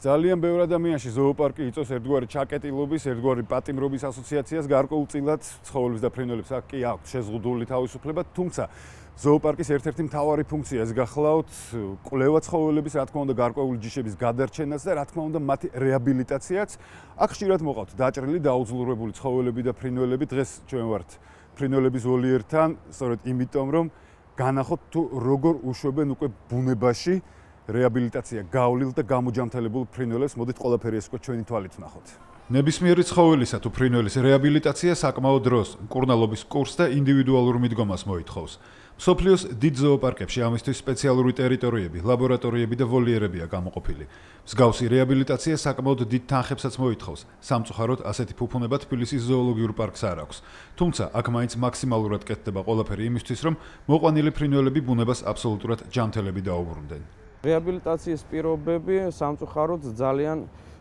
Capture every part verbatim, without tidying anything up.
ძალიან ბევრ ადამიანში ზოოპარკი იწვევს ერთგვარი ჩაკეტილობის, ერთგვარი პატიმრობის ასოციაციას გარკვეულწილად ცხოველებს და ფრინველებს აქ კი აქვს შეზღუდული თავისუფლება, თუმცა ზოოპარკის ერთ-ერთი მთავარი ფუნქცია ეს გახლავთ კვლევა ცხოველების, რა თქმა უნდა, გარკვეული ჯიშების გადარჩენაც და რა თქმა უნდა, მათი რეაბილიტაციაც. აქ ხშირად მოყავთ დაჭრილი, დაუძლურებული ცხოველები და ფრინველები. დღეს ჩვენ ვართ ფრინველების ვოლიერთან, სწორედ იმიტომ, რომ განახოთ თუ როგორ უშვებენ უკვე ბუნებაში რეაბილიტაცია გავლილ და გამოჯანმრთელებულ ფრინველებს. მოდით ყველაფერი ეს უკვე ჩვენი თვალით ვნახოთ. ნებისმიერი ცხოველისა თუ ფრინველის რეაბილიტაცია საკმაოდ დროს, მკურნალობის კურსს და ინდივიდუალურ მიდგომას მოითხოვს. მსოფლიოს დიდ ზოოპარკებში ამისთვის სპეციალური ტერიტორიები, ლაბორატორიები და ვოლიერებია გამოყოფილი. მსგავსი რეაბილიტაცია საკმაოდ დიდ თანხებსაც მოითხოვს. სამწუხაროდ ასეთი ფუფუნება თბილისის ზოოლოგიურ პარკს არ აქვს. თუმცა აქ მაინც მაქსიმალურად კეთდება ყველაფერი იმისთვის, რომ მოყვანილი ფრინველები ბუნებას აბსოლუტურად ჯანმრთელები დაუბრუნდნენ. რეაბილიტაციის პირობები სამწუხაროდ ძალიან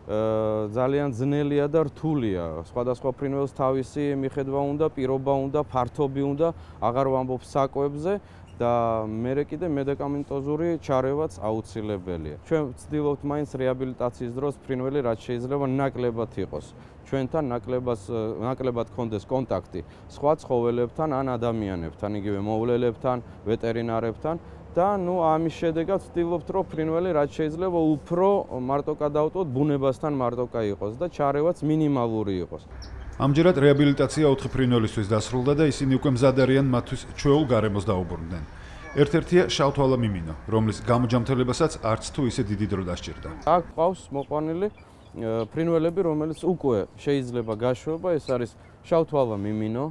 ძალიან ძნელია და რთულია. სხვადასხვა ფრინველს თავისი მიხედვა უნდა, პირობა უნდა, ფართობი უნდა, აღარ ვამბობ საკვებზე და მერე კიდე მედიკამენტოზური ჩარევაც აუცილებელია. ჩვენ ვცდილობთ მაინც რეაბილიტაციის დროს ფრინველი რაც შეიძლება ნაკლებად იყოს. ჩვენთან ნაკლებად ნაკლებად გქონდეს კონტაქტი სხვა ცხოველებთან ან ადამიანებთან, იგივე მოვლელებთან, ვეტერინარებთან. და ნუ ამის შედეგად ვცდილობთ, რომ ფრინველი რაც შეიძლება უფრო მარტო გადავტოთ, ბუნებასთან მარტოკა იყოს და ჩარევაც მინიმალური იყოს. ამჯერად რეაბილიტაცია ოთხი ფრინველისთვის დასრულდა და ისინი უკვე მზად არიან მათთვის ჩვეულ გარემოს დაუბრუნდნენ. ერთ-ერთია შავთვალა მიმინო, რომლის გამოჯანმრთელებასაც არც თუ ისე დიდი დრო დასჭირდა. აქ ყავს მოყვანილი ფრინველები, რომელიც უკვე შეიძლება გაშვება, ეს არის შავთვალა მიმინო,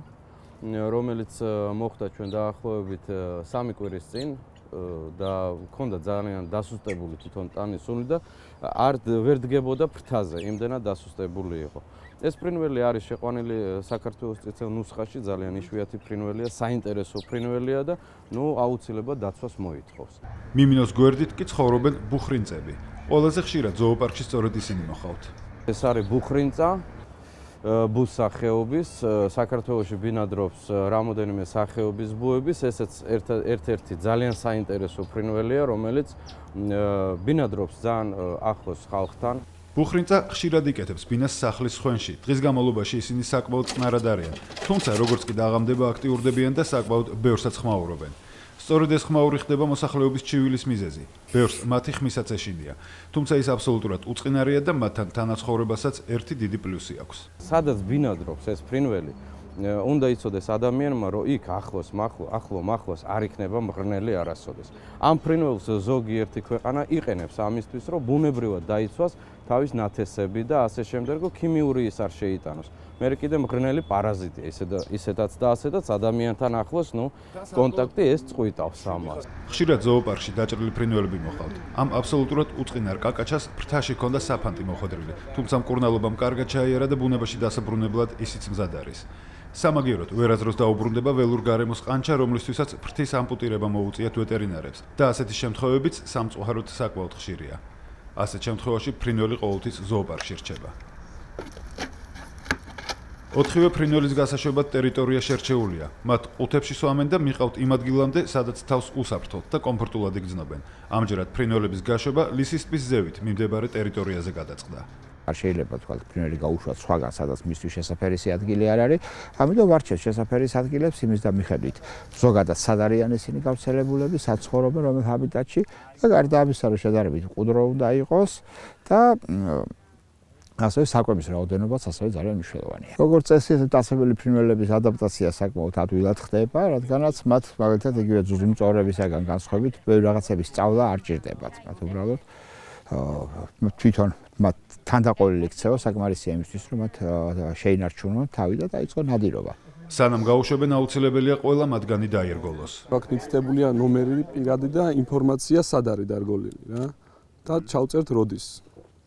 რომელიც მოხდა ჩვენ დაახლოებით სამი კვირის წინ. და მქონდა ძალიან დასუსტებული თვითონ ტანისული და არ ვერ დგებოდა ფრთაზე, იმდენად დასუსტებული იყო. ეს ფრინველი არის შეყვანილი საქართველოს წითელ ნუსხაში, ძალიან იშვიათი ფრინველია, საინტერესო ფრინველია და ნუ აუცილებლად დაცვას მოითხოვს. მიმინოს გვერდით კი ცხოვრობენ ბუხრინწები. ყველაზე ხშირად ზოოპარკში სწორედ ისინი მოხავთ. ეს არის ბუხრინწა ბუს სახეობის, საქართველოში ბინადრობს რამოდენიმე სახეობის ბუების, ესეც ერთ-ერთი ძალიან საინტერესო ფრინველია, რომელიც ბინადრობს ძალიან ახლოს ხალხთან. ბუხრინწა ხშირად იკეთებს ბინას სახლის ხვენში. დღის განმავლობაში ისინი საკმაოდ წყნარად არიან, თუმცა როგორც კი დაღამდება აქტიურდებიან და საკმაოდ ბევრსაც ხმაურობენ. სწორედ ეს ხმაური ხდება მოსახლეობის ჩივილის მიზეზი. ბევრს მათი ხმისაც ეშინია, თუმცა ის აბსოლუტურად უწყინარია და მათთან თანაცხოვრებასაც ერთი დიდი პლუსი აქვს. სადაც ბინადრობს ეს ფრინველი, უნდა იცოდეს ადამიანმა, რომ იქ ახლოს, ახლო მახლოს არ იქნება მღრღნელი არასოდეს. ამ ფრინველს ზოგიერთი ქვეყანა იყენებს ამისთვის, რომ ბუნებრივად დაიცვას თავის ნათესები და ასე შემდეგ, რომ ქიმიური ის არ შეიტანოს. მერე კიდე მღრღნელი პარაზიტია, ისედაც და ასედაც ადამიანთან ახლოს, ნუ კონტაქტი ეს წყვიტავს ამას. ხშირად ზოოპარკში დაჭრილი ფრინველები მოხავთ. ამ აბსოლუტურად უწყინარ კაკაჩას ფრთაში ჰქონდა საფანტი მოხვედრილი, თუმცა მკურნალობამ კარგად ჩაიარა და ბუნებაში დასაბრუნებლად ისიც მზად არის. სამაგიეროდ ვერაზროს დაუბრუნდება ველურ გარემოს ყანჩა, რომლისთვისაც ფრთის ამპუტირება მოუწიათ ვეტერინარებს და ასეთი შემთხვევებიც სამწუხაროდ საკმაოდ ხშირია. ასეთ შემთხვევაში ფრინველი ყოველთვის ზოოპარკში რჩება. ოთხივე ფრინველის გასაშვებად ტერიტორია შერჩეულია. მათ ყუთებში სვამენ და მიყავთ იმ ადგილამდე, სადაც თავს უსაფრთხოდ და კომფორტულად იგრძნობენ. ამჯერად ფრინველების გაშვება ლისის ტბის ზევით მიმდებარე ტერიტორიაზე გადაწყდა. არ შეიძლება თქვათ ფრინველი გაუშვათ სხვაგან, სადაც მისთვის შესაფერისი ადგილი არ არის. ამიტომ ვარჩევთ შესაფერის ადგილებს იმის და მიხედვით. ზოგადად სად არიან ისინი გავრცელებულები, სად ცხოვრობენ, რომელ ჰაბიტატში და გარდა ამისა, რომ შედარებით მყუდრო უნდა იყოს და ასევე საკვების რაოდენობაც ასევე ძალიან მნიშვნელოვანია. როგორც წესი, დასაბელი ფრინველების ადაპტაცია საკმაოდ ადვილად ხდება, რადგანაც მათ მაგალითად იგივე ძუძუმწოვრებისაგან განსხვავებით, ბევრი რაღაცების სწავლა არ ჭირდებათ. მათ უბრალოდ თვითონ მათ თანდაყოლილი ქცევა საკმარისია იმისთვის, რომ მათ შეინარჩუნონ თავი და დაიწყონ ნადირობა. სანამ გაუშვებენ, აუცილებელია ყველა მათგანი დაირგოლოს. აქ მითითებულია ნომერი, პირადი და ინფორმაცია სად არის დარგოლილი რა და ჩავწერთ როდის.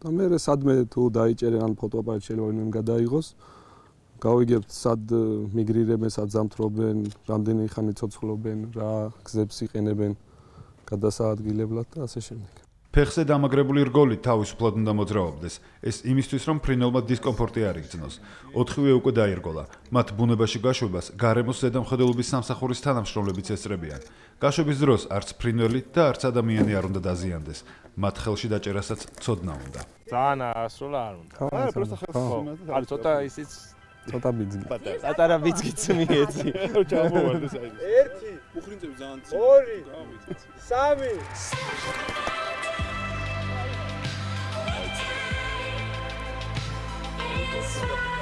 და მე სადმე თუ დაიჭერენ ან ფოტოაპარატი შეიძლება ვინმე გადაიღოს, გავიგებთ სად მიგრირებენ, სად ზამთრობენ, რამდენი ხანი ცოცხლობენ, რა გზებს იყენებენ გადასაადგილებლად და ასე შემდეგ. ფეხზე დამაგრებული რგოლი თავისუფლად უნდა მოძრაობდეს. ეს იმისთვის, რომ ფრინველმა დისკომფორტი არ იგრძნოს. ოთხივე უკვე დაირგოლა. მათ ბუნებაში გაშვებას გარემოს ზედამხედველობის სამსახურის თანამშრომლებიც ესწრებიან. გაშვების დროს არც ფრინველი და არც ადამიანი არ უნდა დაზიანდეს. მათ ხელში დაჭერასაც ცოდნა უნდა. ძალიან ასრულა არ უნდა. არა, პროსტა ხელს. არის ცოტა ისიც ცოტა ბიძგი. პატარა ბიძგიც მიეცი. ჩამოვარდეს აი. ერთი, უხრინწები ძალიან ცი. ორი, სამი. Thank you.